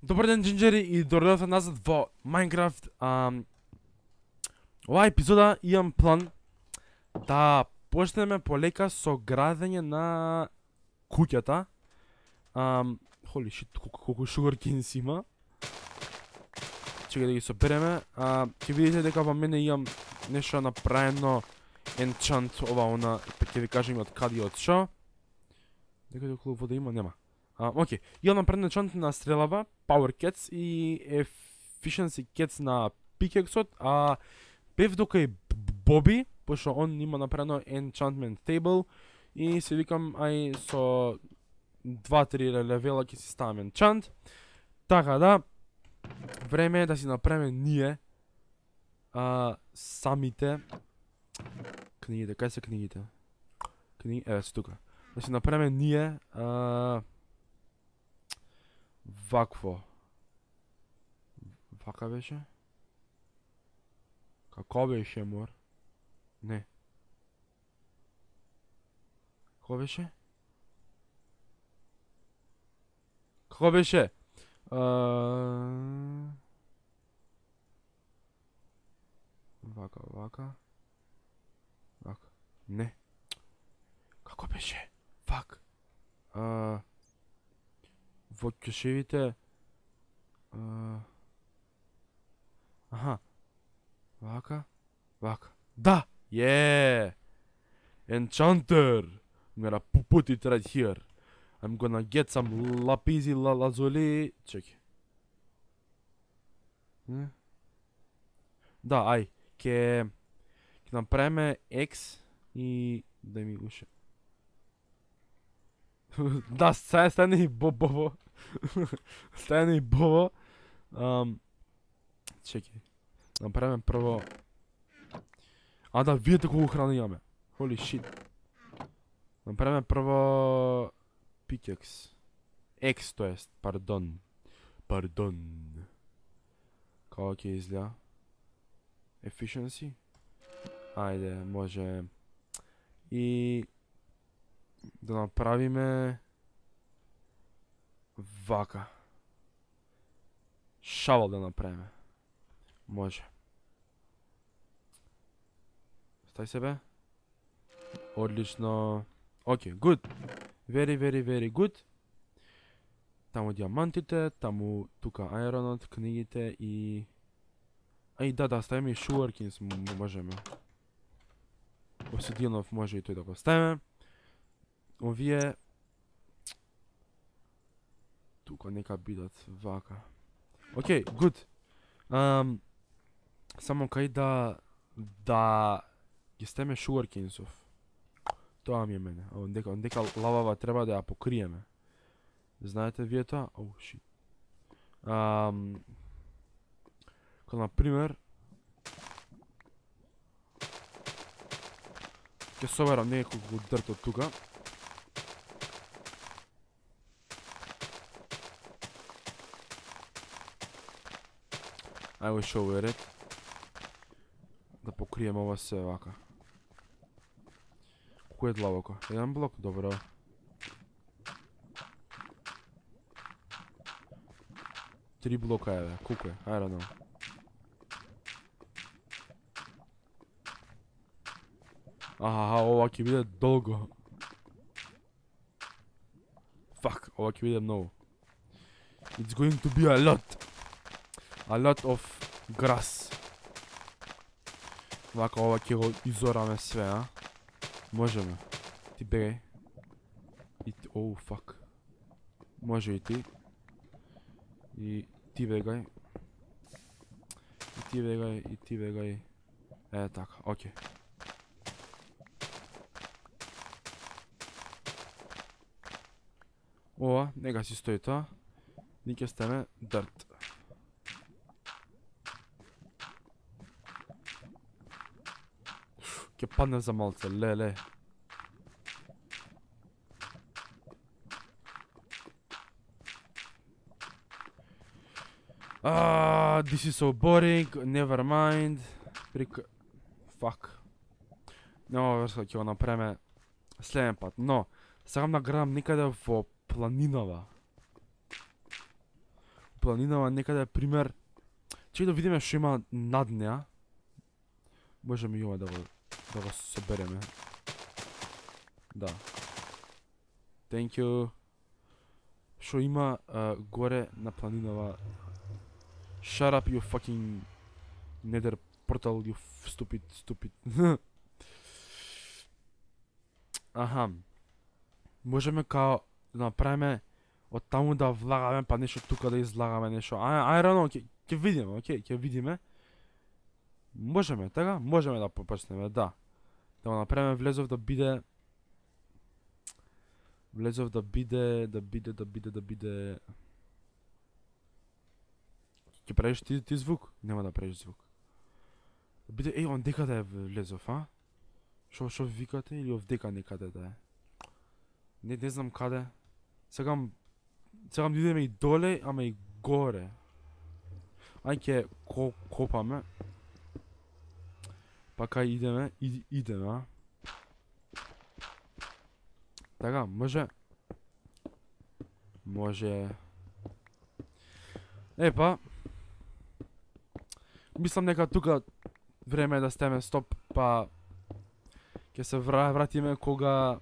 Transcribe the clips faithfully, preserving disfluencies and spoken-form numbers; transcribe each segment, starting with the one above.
Добар ден, Джинджери, и дојдовте назад во Minecraft. Ам, Оваа епизода имам план да почнеме полека со градење на куќата. Ам, Holy shit, колку, колку sugarcanes има. Чекај да ги собереме. А, ќе видите дека во мене имам нешто направено enchant ова она, па ќе ви кажам од каде и од шо. Дека околу вода има, нема. А, окей, имам направено enchant на стрелава, Power Cats и Efficiency Cats на pickaxe-от, а бев дока и Боби, пошто он има направено enchantment table и се викам ај со два-три левела ќе си ставам enchant. Така да, време е да си направиме ние а, самите книгите. Кај се книгите? Книги, еве се тука. Да си направиме ние а, вакво. Вака беше? Како беше, мор? Не. Како беше? Како беше? А... Вака, вака. Вака. Не. Како беше? Фак. А... Во кешевите... А... Аха. Вака. Вака. Да! Yeah! Enchanter! I'm gonna put it right here. I'm gonna get some lapisi la lazuli. Чеки. Не? Да, ај. Ке... Ке направиме X и... Да ми уше. Да, стане, стане и бобово. Стане и бобо. Um, чеки. Направиме прво... А да, видите колку храна имаме. Holy shit. Направиме прво... Pickaxe. X, то ест, пардон. Пардон. Како ќе изгледа? Efficiency? Ајде, може... И... Да направиме... Вака. Шавал да направиме. Може. Стај себе. Одлично. Окей, good. Very, very, very good. Таму диамантите, таму тука аеронот, книгите и... Ај, да, да, ставиме и sugarcanes можеме. Обсидијанов може и тој да го ставиме. Овие... Тука нека бидат вака. Окей, good. Um, само кај да... Да... Ги ставиме sugarcanes-ов. Тоа ми е мене. Ондека, ондека лавава треба да ја покриеме. Знаете вие тоа? Оу, шит. Ам... Ко например... Ке соберам неколку дрт од тука. I will show it. Да покрием ова се вака. Кој е длабоко? Еден блок? Добро. Три блока е, бе. Колку е? I don't know. Аха, ова ќе биде долго. Fuck, ова ќе биде многу. It's going to be a lot. A lot of grass. Вака, ова ќе го изораме све, а? Можеме. Ти бегај. И ти... Оу, фак. Може и ти. И ти бегај. И ти бегај, и ти бегај. Е, така, окей. Ова, нека си стои тоа. Ни ќе стане дърт. Ќе падне за малце, леле. Ah, this is so boring, never mind. Прик... Fuck. Нема врска, ќе го направиме следен пат, но сакам да градам некаде во планинава. планинава некаде пример. Чекај да видиме што има над неа. Можеме и ова да го да го собереме. Да. Thank you. Што има uh, горе на планинава? Shut up, you fucking nether portal, you stupid, stupid. Аха. Можеме као да направиме од таму да влагаме па нешто тука да излагаме нешто. I, I don't know, ќе видиме, окей, ќе видиме. Можеме, така? Можеме да почнеме, да. Да го направиме влезов да биде Влезов да биде, да биде, да биде, да биде... Ќе правиш ти, ти звук? Нема да правиш звук. Да биде, еј, он дека да е влезов, а? Шо, шо викате или овдека некаде да е? Не, не знам каде. Сегам, сегам да идеме и доле, ама и горе. Ај ќе ко, копаме. Па кај идеме, и, идеме, а? Така, може. Може. Епа. Мислам нека тука време е да стеме стоп, па ќе се вра, вратиме кога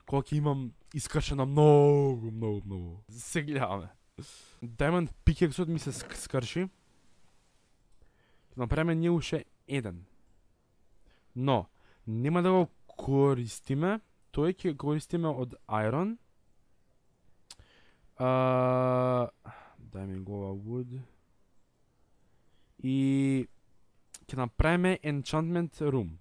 кога ќе имам искршено многу, многу, многу. Се гледаме. Diamond Pickaxe-от ми се скрши. Направиме ние уште еден. Но нема да го користиме. Тој ќе користиме од Iron. Uh, дај ми го ова wood. И ќе направиме enchantment room.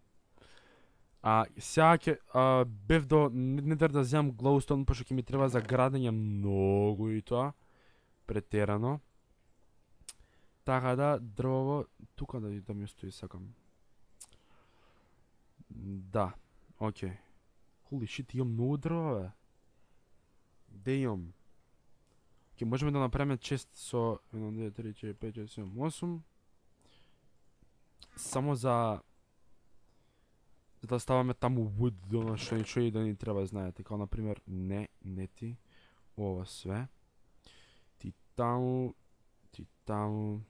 А сега ќе uh, бев до недер да земам glowstone, пошто ќе ми треба за градење многу и тоа претерано. Така да дрвово тука да да ми стои сакам. Да, окей. Okay. Holy shit, имам многу дрва, бе. Де имам? Ке можеме да направиме чест со едно, две, три, четири, пет, шест, седум, осум. Само за за да ставаме таму wood, до што ничто и да ни треба, знаете, како например, не, не ти, ова све. Ти таму, ти таму,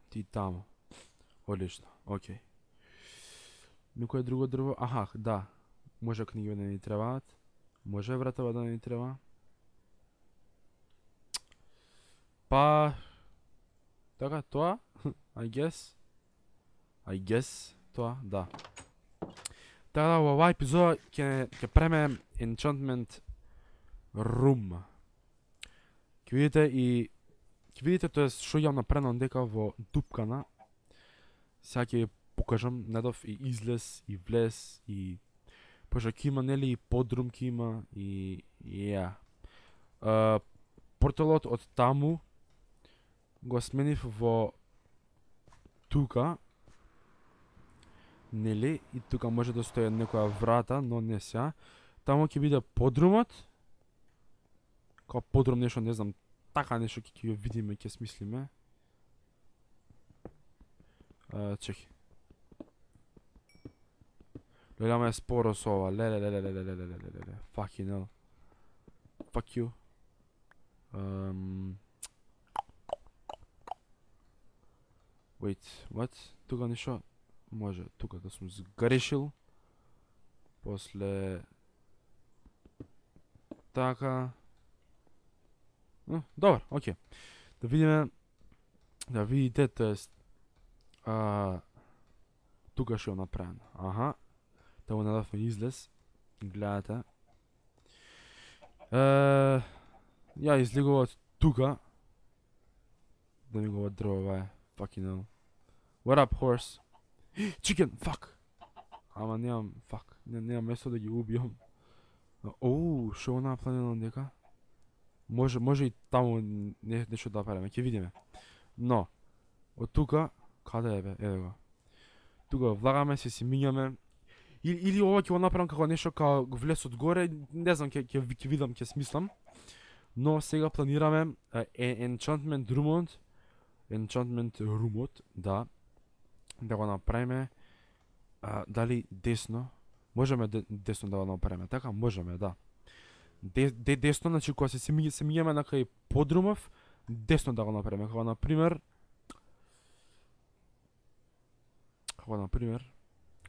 ти таму. Одлично, окей. Никое друго дрво? Аха, да. Може книги да ни требаат. Може вратова да ни треба. Па... Така, тоа? I guess. I guess. Тоа, да. Така да, во оваа епизода ќе ќе преме enchantment room. Ќе видите и ќе видите тоа што ја направено дека во дупкана. Сега ќе покажам недов и излез и влез и пошто ќе има нели и подрум ќе има и ја. Yeah. Порталот од таму го сменив во тука. Нели и тука може да стои некоја врата, но не сега. Таму ќе биде подрумот. Као подрум нешто, не знам, така нешто ќе ќе видиме, ќе смислиме. Uh, чеки. Гледаме е споро со ова. Леле, леле, леле, леле, леле, леле. Fucking hell. Fuck you. Um... Wait, what? Тука нешто? Може, тука да сум сгрешил. После... Така... Uh, добар, окей. Да видиме... Да видите, тоест... Uh, тука што е направено. Аха. Таму надавме излез. Гледате. Uh, ја излегуват тука. Да ми го дрва е. Fucking hell. What up, horse? Chicken, fuck! Ама немам, fuck. Не, немам место да ги убијам. Оу, шо е направено дека? Може, може и таму не, нешто да правиме, ќе видиме. Но, од тука, каде е бе? Еве го. Тука влагаме се, си мињаме. Или, или ова ќе го направам како нешто како влез од горе, не знам, ќе ќе ќе видам, ќе смислам. Но сега планираме uh, enchantment roomот, enchantment roomот, да, да го направиме. Uh, дали десно? Можеме де, десно да го направиме, така? Можеме, да. Де, де, десно, значи кога се се миѓаме на кај подрумов, десно да го направиме, како на пример како на пример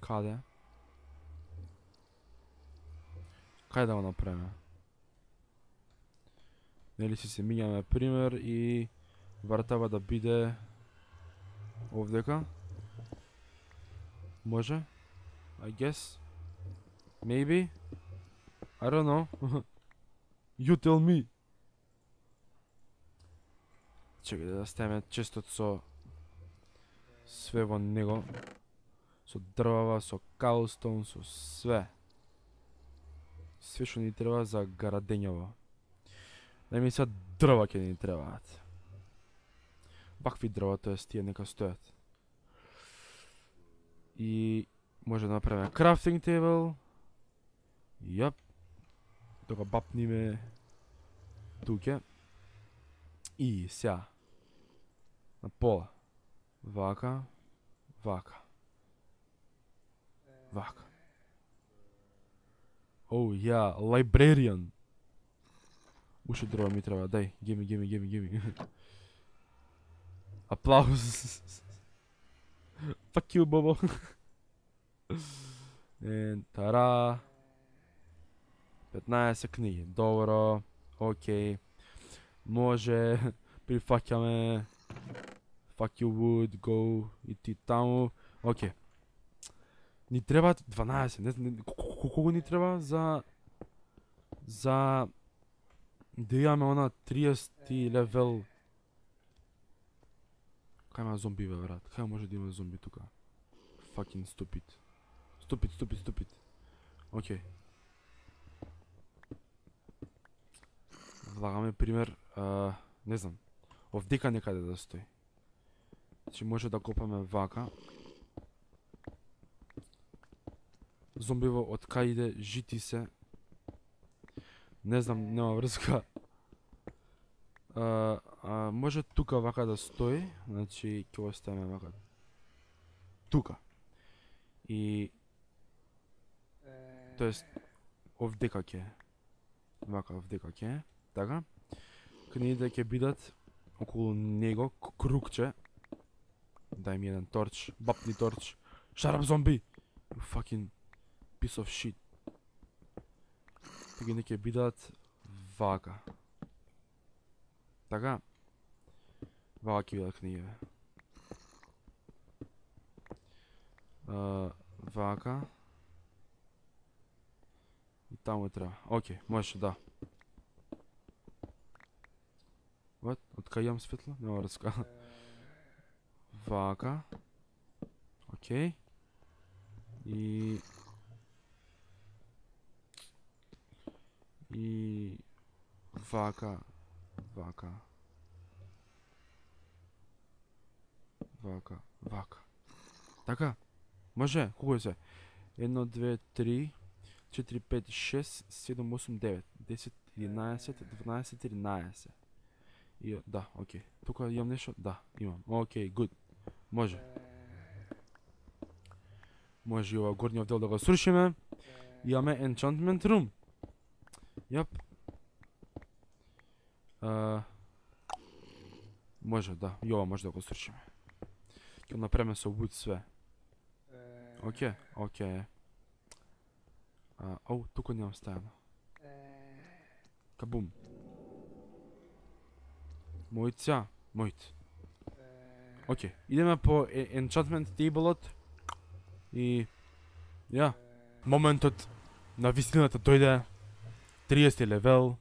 каде каде да го направиме? Нели си се мињаме пример и вратава да биде овдека? Може? I guess? Maybe? I don't know. You tell me. Чекај да ставиме честот со све во него. Со дрвава, со каустон, со све. Све што ни треба за градењево. Најми сега дрва ќе ни требаат. Вакви дрва, тоест тие нека стојат. И може да направиме крафтинг тейбл. Јап. Да го бапниме туке. И сега на пола. Вака. Вака. Вака. Оу, ја, librarian. Уште дрва ми треба, дај, геми, геми, геми, геми. Аплауз. Fuck you, Бобо. And тара. петнаесет книги, добро, окей. Може, прифаќаме. Fuck you wood, go, и ти таму. Окей. Ни треба дванаесет, не знам, колку ни треба за... За... Да имаме она триесети левел. Кај има зомби, бе, брат? Кај може да има зомби тука? Fucking stupid. Stupid, stupid, stupid. Окей. Влагаме пример, а, не знам, овдека некаде да стои. Значи може да копаме вака. Зомбиво од кај иде, жити се. Не знам, нема врска. А, а, може тука вака да стои, значи ќе го ставиме вака. Тука. И... Тоест, овдека ќе. Вака овдека ќе. Така. Книгите ќе бидат околу него, кругче. Дај ми еден торч, бапни торч. Shut up, зомби! You fucking piece of shit. Книгите ќе бидат вака. Така. Вака ќе бидат книгите. Uh, вака. И таму треба. Окей, можеш да. What? Од кај имам светло? Нема врска. Вака. Окей. И... И... Вака. Вака. Вака. Вака. Така? Може? Колку е се? едно, две, три, четири, пет, шест, седум, осум, девет, десет, единаесет, дванаесет, тринаесет. И, да, окей. Тука имам нешто? Да, имам. Окей, гуд. Може. Може и ова горниот дел да го срушиме. Имаме enchantment room. Јап. Uh, може, да. И ова може да го срушиме. Ќе направиме со wood све. Окей, окей. Uh, оу, тука немам ставено. Кабум. Мојца, мојт. Окей, идеме по enchantment table-от. И... Ја. Моментот на вистината дојде. триесети левел.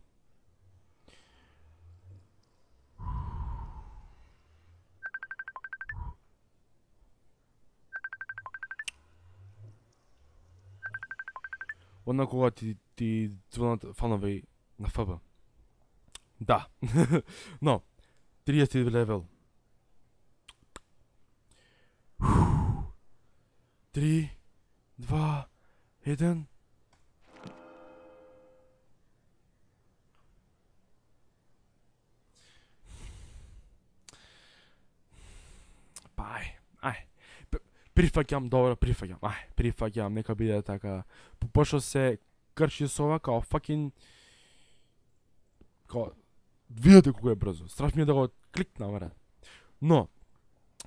Одна кога ти, ти звонат фанови на Ф Б. Да. Но, триесети левел. Три, два, еден. Па, ај, ај. Прифаќам, добро, прифаќам. Ај, прифаќам, нека биде така. Пошто се крши со ова, као fucking... Као... Видете колку е брзо. Страв ми е да го кликнам, бре. Но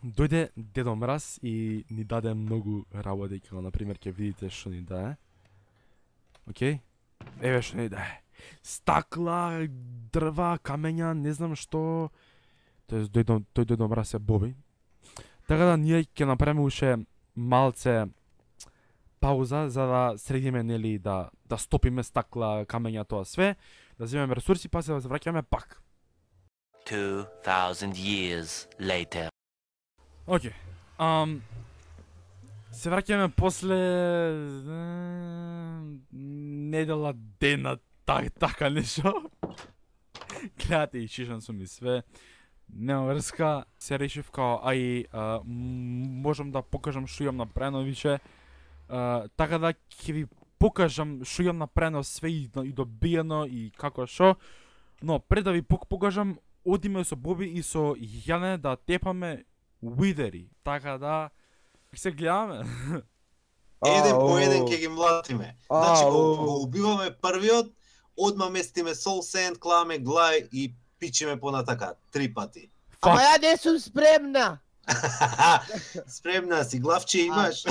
дојде Дедо Мраз и ни даде многу работи, како на пример ќе видите што ни даде. Океј? Еве што ни даде. Стакла, дрва, камења, не знам што. Тоест дојде тој Дедо Мраз е Боби. Така да ние ќе направиме уште малце пауза за да средиме, нели, да да стопиме стакла, камења, тоа све, да земеме ресурси, па се да се враќаме пак. two thousand years later. Океј. Ам се враќаме после недела дена, так така нешто. Гледате и шишан сум и све. Нема врска, се решив као ај а, можам да покажам што имам направено више. А, така да ќе ви покажам што имам направено све и, и добиено и како што. Но пред да ви покажам, одиме со Боби и со Јане да тепаме уидери. Така да се гледаме. Еден по еден ќе ги млатиме. Значи го, го убиваме првиот, одма местиме сол сенд, кламе глај и пичиме понатака три пати. Ама ја не сум спремна. Спремна си, главче имаш.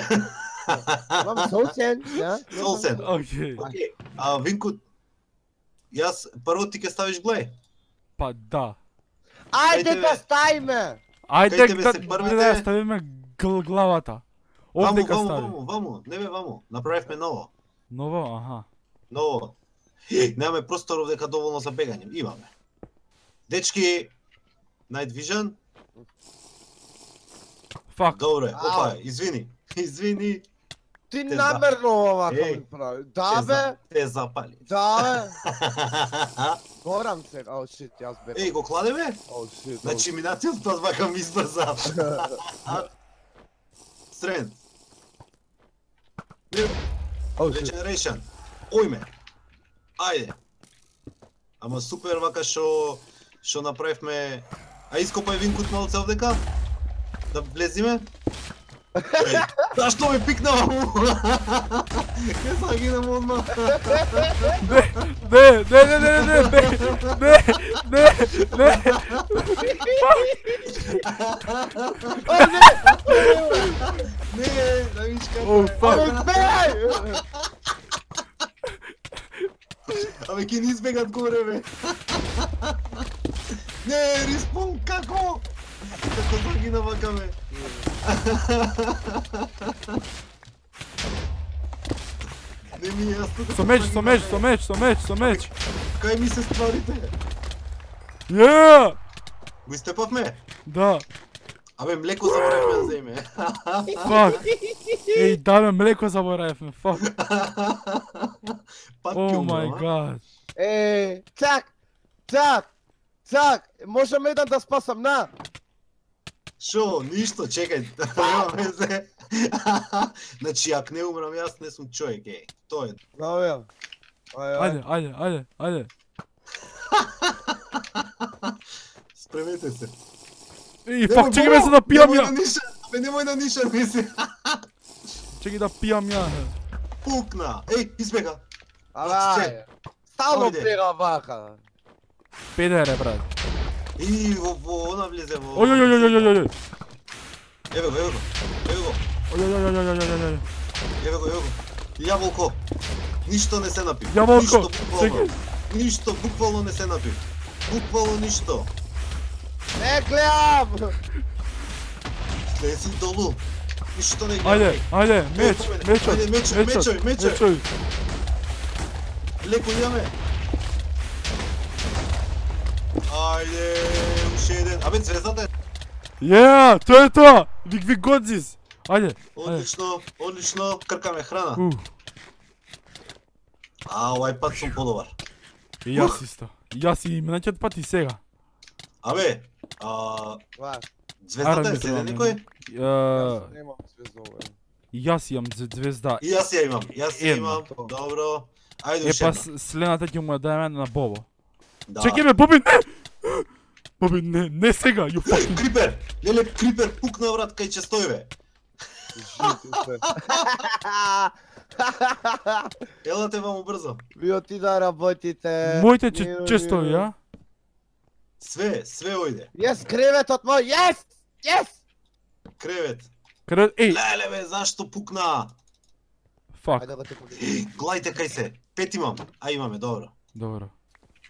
Имам солсен, да? Солсен. Океј. Океј. А Винку, јас прво ти ќе ставиш глај. Па да. Ајде Кај да тебе? ставиме. Ајде Кај тебе да, се да, првите? да ставиме гл, главата. Ваму, Овде ка ваму, стави. ваму, ваму, не бе ваму. Направивме ново. Ново, аха. Ново. Е, немаме простор овдека доволно за бегање. Имаме. Дечки, Night Vision. Фак. Добре, опа, Ау. извини. Извини. Ти Те намерно овака Еј, ми прави. Те Да за- бе, Те запали. да бе. Горам се. О, шит, јас бе. Еј, го кладеме? О, шит. Значи минатиот пат вака ми избрза. Стрен. О, шит. Regeneration. Ојме. Ајде. Ама супер вака што што направивме. А ископај Винкут малце овдека? Да влезиме? Еј, зашто ме пикнава му? Ке загинам одма. Не, не, не, не, не, не, не, не, не, не. Не, да виж како. О, е. фак. Бегај! Абе, ке ни избегат горе, бе. Не, респон, како? Како загина вака, бе. Не ми е јасно. како Со меч, загина, со меч, бе. со меч, со меч, со меч. Кај ми се стварите? Ја! Го истепавме? Да, Абе, млеко заборавме да земе. фак. Еј, да бе, млеко заборавивме, фак. Пак О ќе мај умрам, а? гад. Е, цак, цак, цак, можам еден да спасам, на. Шо, ништо, чекај, нема везе. Значи, ако не умрам јас, не сум човек, еј. Тоа е. Да бе. Ај, ај. Ајде, ајде, ајде, ајде. Спремете се. Еј, фак, чекай ме се да пијам Немој ја. да нишан, бе, немој да нишан, мисли. Чекай да пијам ја. Пукна. Еј, избега. Абе, Отце. ај. Стално Ојде. бега вака. Педере, брат. И во, во, она влезе во... Ој, ој, ој, ој, ој, ој, ој. Еве го, еве го. Еве го, Ој, ој, ој, ој, ој, ој, ој. еве го, еве го. Јаволко. Ништо не се напи. Јаволко, Ништо, буквално. чекај. Ништо, буквално не се напи. Буквално ништо. Не гледам. Слези долу. Ништо не гледам. Ајде, ајде, меч, Ајде, мечот, ајде, мечој, мечот, мечој, мечој. мечој. Леко имаме. Ајде, уште еден. Абе, звездата е. Ја, тоа е тоа. Вик, вик, годзис. Ајде, ајде. Одлично, одлично. Кркаме храна. У, А, овај пат сум подобар. и јас исто. Јас и минатиот пат и сега. Абе, а, Ва, звездата Арам е ми седе треба некој? Ја, јас немам звездове. јас имам зв- звезда. И јас ја имам, јас ја Едно. имам. Добро. Ајде Е, уште па една. с- следната ќе му ја дајме на Бобо. Да. Чекај ме, Боби, не! Боби, не, не сега, you fucking... Крипер! Леле, Крипер пукна врат кај честојве. Жити се. Елате ваму брзо. Ви оти да работите. Моите Не, че, не, често, не. ја? Све, све ојде. Јес, креветот мој, јес! Јес! Кревет. Кревет, еј, Леле бе, зашто пукна? фак. Ајде да те победам. Гледајте кај се. Пет имам. А имаме, добро. Добро.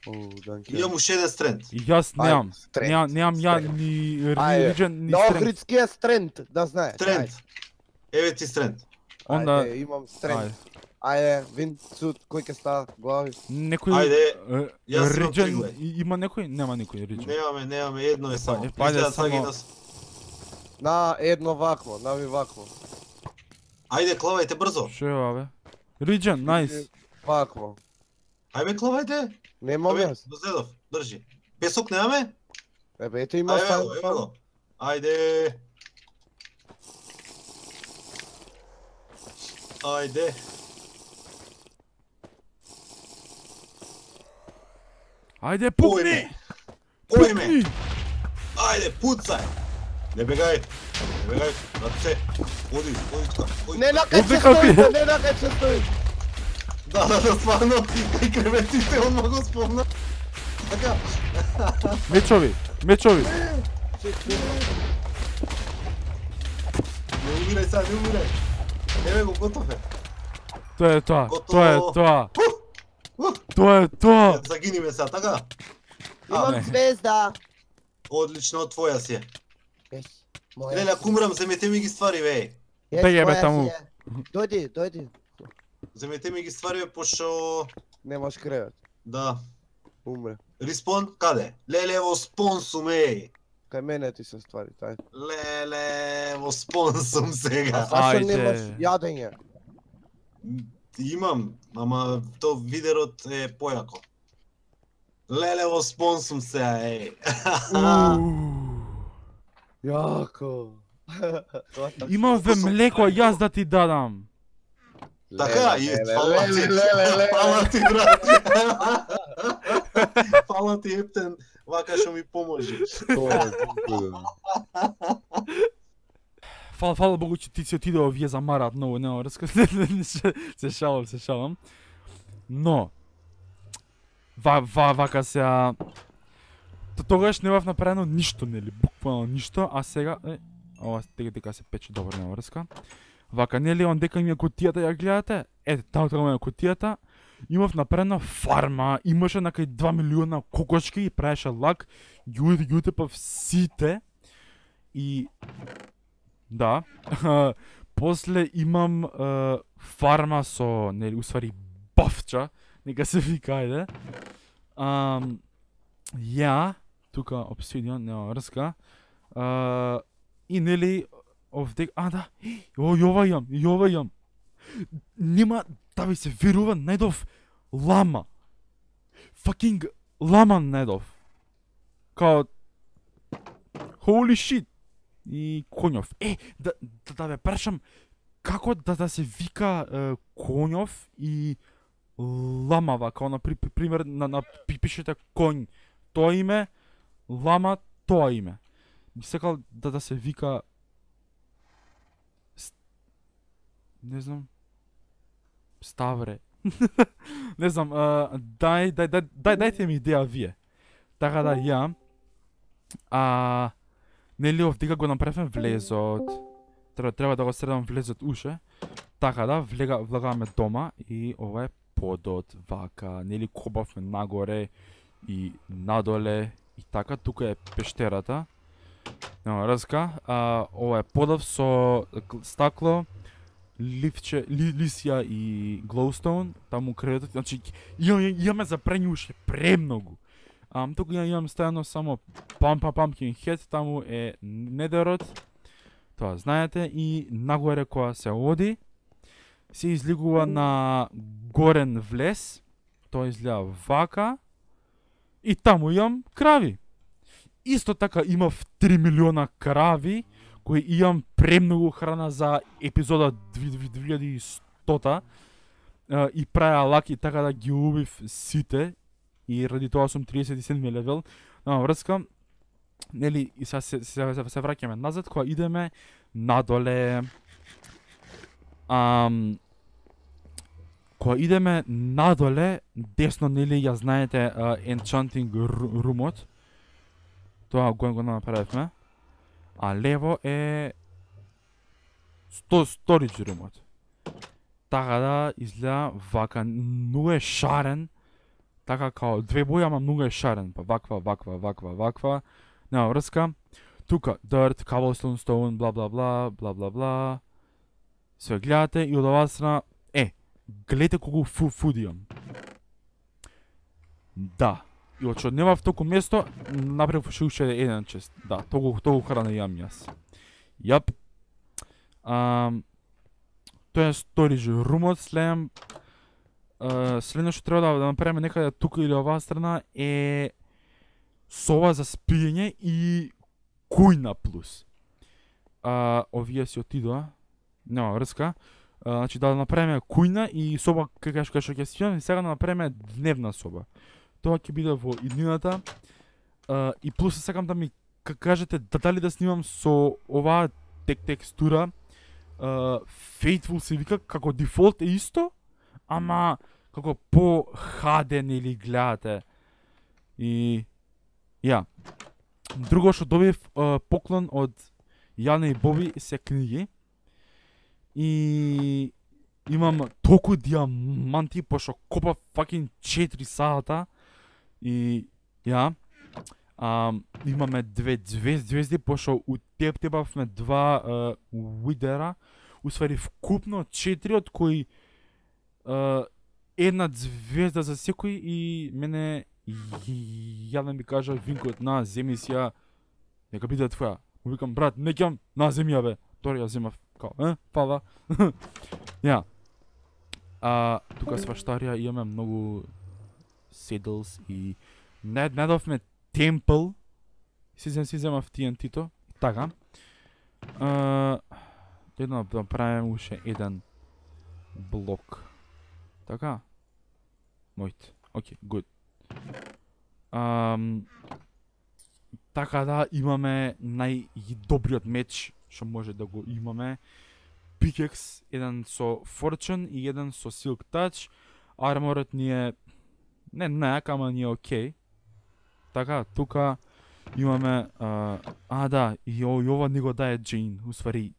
О, данке. Имам уште еден стренд. И јас Ајде, немам. стренд, Немам, немам ја стренд. ни Ајде, релиджен, ни На стренд. охридскиот стренд, да знаеш. Стренд. Еве ти стренд. Онда, Ајде, имам стренд. ајде. Ајде, вин, цуд, кој ќе става глави? Некој Ајде, е, јас имам риджен, триглед. и- има некој? Нема никој риджен. Немаме, немаме, едно е само. е, па, ајде, Изгледа сега само- ги нас- На едно вакво, нави вакво. Ајде, клавајте брзо. Шо е ова бе? Риджен, најс. Вакво. Ајде, клавајте. Немам Абе, јас. Дозедов, држи. Песок немаме? Ебе, ето има Ајде, сам. ево, ево го. Ајде. Ајде. Ајде, пукни! Ојме. Ојме. Пукни! Ајде, пуцај. Не бегај. Не бегај. Раце. Оди, оди тука. Оди. Не на кај Овде ќе какви? стои, не на кај ќе стои. Да, да, да, стварно. Кај креветите, он ма го спомна. Така. Мечови, мечови. Не умирај сега, не умирај. Еве го, готов е. Тоа е тоа, Готово. тоа е тоа. Ух, Тоа е тоа. загини ме сега, така? не. Имам звезда. Одлично, твоја си е. Ес, моја. Леле, ако умрам, земете ми ги ствари, веј. Ес, Беге, бе, моја таму. си е. Дојди, дојди. Земете ми ги ствари, бе, пошто... Немаш кревет. Да. Умре. Респон, каде? Леле, во спонсум, еј. Кај мене ти се ствари, тај. Леле, во спонсум А сега. зашо Ајде. немаш јадење? Имам, ама то видерот е појако. Леле, во спонсум сега, еј. Јако. Има ве млеко, јас да ти дадам. Така, и леле, фала ти, леле, леле, фала ти, брат. Фала ти, Ептен, вака што ми поможи. Фала, фала Богу, че ти си отидео, вие замараат многу, нема врска. Се шалам, се шалам. Но, ва, ва, вака сега... Т- Тогаш не бев направено ништо, нели, буквално ништо, а сега... Е, ова тега дека се пече добро, нема врска. Вака, нели, он дека ми е кутијата, ја гледате? Ете, таму таму е кутијата. Имав направена фарма, имаше накај два милиона кокошки и правеше лак. Јуди, ги утепав сите. И... Да. После имам е, фарма со, нели, усвари бафча, нека се вика, ајде. Ам, ја, тука обсидион, нема врска. Uh, и нели, овде, а да, о, и ова јам, и ова јам. Нема да ви се верува, најдов лама. Fucking лама најдов. Као, holy shit. И конјов. Е, да, да, да ве прашам, како да, да се вика е, конјов и ламава, као на при, пример на, на пи- пишете конј, тоа име, лама, тоа име. Би сакал да да се вика Ст... не знам Ставре. Не знам, а, дај, дај, дај, дај, дајте ми идеја вие. Така да ја а нели овдека го направивме влезот. Треба треба да го средам влезот уше. Така да, влега влагаме дома и ова е подот, вака, нели кобавме нагоре и надоле и така, тука е пештерата. Нема разка, а ова е подов со гл- стакло, ливче, ли, лисија и глоустоун, таму кредот, значи имаме, имаме за прење уште премногу. Ам тука ја имам стајано само пам пам пампкин хед, таму е недерот. Тоа знаете и нагоре кога се оди се излигува на горен влез. Тоа изгледа вака. И таму имам крави. Исто така имав три милиона крави кои имам премногу храна за епизода две илјади и сто е, и праја лаки така да ги убив сите и ради тоа сум триесет и седми левел. На врска, нели, и сега се, се, се, се враќаме назад, кога идеме надоле, ам, кога идеме надоле, десно, нели, ја знаете, uh, enchanting румот, Тоа го го направивме. А лево е сто storage room-от. Така да изгледа вака, многу е шарен. Така као две бои, ама многу е шарен. Па ваква, ваква, ваква, ваква. Нема врска. Тука dirt, cobblestone, stone, бла бла бла, бла бла бла. Све гледате и од оваа страна, е, гледате колку фу фуд имам. Да. И од што немав толку место, направив уште еден чест. Да, толку толку храна имам јас. Јап. Ам Тоа е storage room-от, следам следно што треба да направиме некаде тука или оваа страна е соба за спиење и кујна плюс. А, овие си отидоа, нема врска. А, значи да направиме кујна и соба кај што ќе спиеме, и сега да направиме дневна соба. Тоа ќе биде во иднината. А, и плюс сакам да ми кажете дали да снимам со оваа тек текстура. Uh, Faithful се вика како дефолт е исто, ама како по хаден или гледате. И ја. Друго што добив uh, поклон од Јана и Боби се книги. И имам толку диаманти пошто копав факин четири сата. И ја. Um, имаме две звезди, звезди пошто у теб тебавме два uh, уидера, усвари вкупно четири, од кои uh, една звезда за секој и мене Јана ми кажа винкот на земи си ја, нека биде твоја. Му викам брат, не ќам на земја бе. Тори ја земав као, е, фала. Ја. А тука сваштарија имаме многу седлс и не недовме темпл. Си зем си земав Ти Ен Ти-то. Така. Uh, Едно да правим уште еден блок. Така. Мојт. Океј, good. Um, така да имаме најдобриот меч што може да го имаме. Pickaxe, еден со Fortune и еден со Silk Touch. Арморот ни е не најак, ама ни е окей. Така, тука имаме, а, а да, и, о, и ова ни го дае Джейн, усвари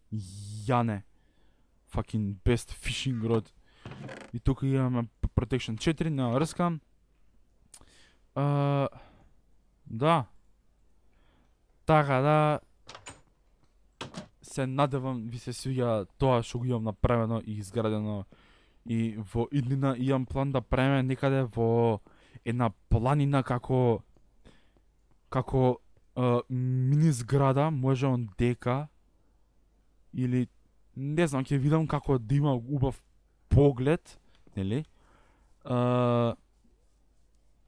Јане. Fucking best fishing rod. И тука имаме Protection четири на врска. А, да. Така да, се надевам ви се свиѓа тоа што го имам направено и изградено. И во иднина имам план да правиме некаде во една планина како како uh, мини зграда, може он дека или не знам, ќе видам како да има убав поглед, нели? Uh,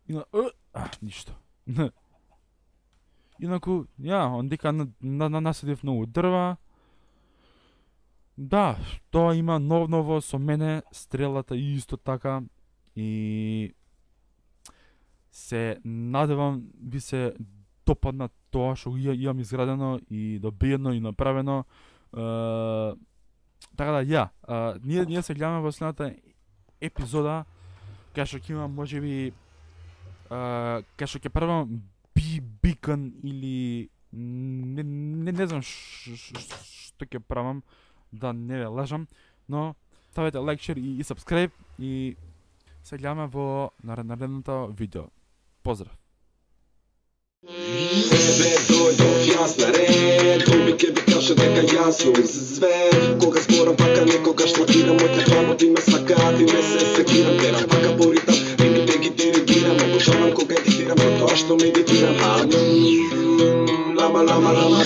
ина, uh, а, ништо. Инаку, ја, он дека на, на, на насадив многу дрва. Да, тоа има нов ново со мене, стрелата и исто така. И се надевам ви се допадна тоа што ја имам изградено и добиено и направено. Uh, така да, ја, uh, ние, ние се гледаме во следната епизода, кај што ќе имам можеби, uh, кај што ќе правам би бикон или не, не, не знам што ќе правам, да не ве лажам, но ставете лайк, шер и, и subscribe и се гледаме во наредното видео. Поздрав! Тебе дојдов јас на ред, тој ке би каже дека јас сум звер. Кога зборам пака некогаш лакирам моите планови ме сакаат и ме се секирам. Терам пака по ритам, ритмите ги диригирам. Обожавам кога едитирам, тоа што медитирам. Лама, лама, лама.